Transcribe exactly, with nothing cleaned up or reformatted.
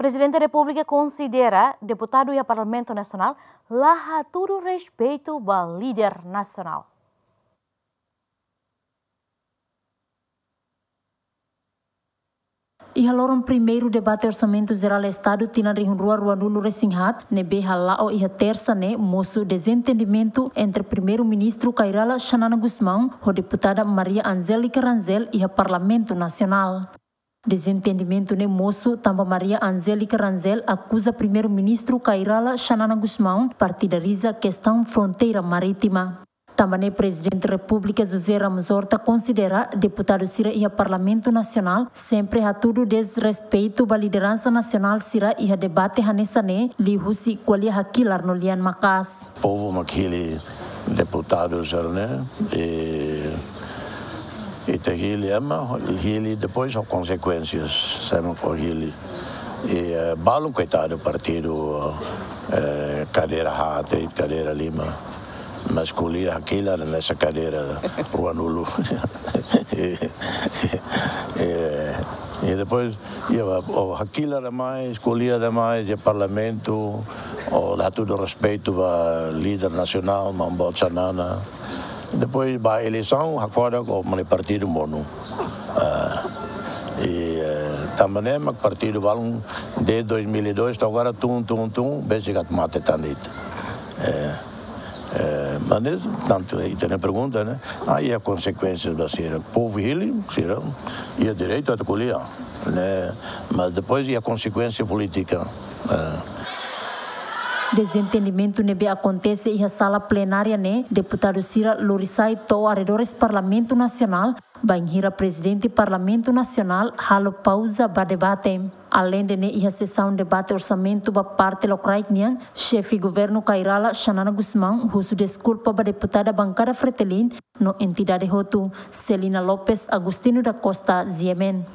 Prezidente Repúblika konsidera deputadu iha Parlamentu Nasionál la hatudu respeitu ba líder nasionál. Iha loron primeiru debate Orsamentu Jerál Estadu tinan rihun rua ruanulu-resin-haat, ne'ebé hala'o iha Tersa ne'e, mosu dezentendimentu entre Primeiru-Ministru Kay Rala Xanana Gusmão ho deputada Maria Angélica Rangel iha Parlamentu Nasionál. Dezentendimentu ne'e mosu tanba Maria Angélica Rangel akuza Primeiru-Ministru Kay Rala Xanana Gusmão partidariza kestaun fronteira marítima. Tanba ne'e Prezidente Repúblika José Ramos Horta konsidera deputadu sira iha Parlamentu Nasionál sempre hatudu desrespeitu ba lideransa nasionál sira iha debate hanesan ne'e, liuhusi ko'alia hakilar no lian maka'as. Povu mak hili deputadu sira-ne'e, i, i ita hili ema, hili depois ho konsekuénsias, se ema mak hili. I, eh, balun koitadu partidu, eh, kadeira haat, kadeira lima. Mas ko'alia hakilar hanesan kadeira ruanulu. I, i, i depois, iha, o hakilar demais, ko'alia demais, iha Parlamentu, o la hatudu respeitu ba líder nasionál, maun boot Xanana. Depois ba eleisaun, hakfodak ho mane partidu monu. Ah, i, eh, tanba ne'e mak partidu balun desde dois mil e dois to'o agora tun, tun, tun, besik atu mate tan de'it. Eh, eh, mas ne'e, tantu, ita-nia pergunta, ne'e? Ah, iha konsekuénsias ba sira. Povu hili, sira iha direitu atu ko'alia, ne'e? Mas depois iha konsekuénsia polítika. Eh. Dezentendimentu ne'ebé akontese iha sala plenária ne'e, deputadu sira lori sai to'o arredores Parlamentu Nasionál, bainhira Prezidente Parlamentu Nasionál halo pauza ba debate. Aleinde ne'e, iha sesaun debate orsamentu ba parte lokraik nian, Xefe Governu Kay Rala Xanana Gusmão husu deskulpa ba deputada bankada Fretilin no entidade hotu. Celina Lopes, Agostinho da Costa, G M N.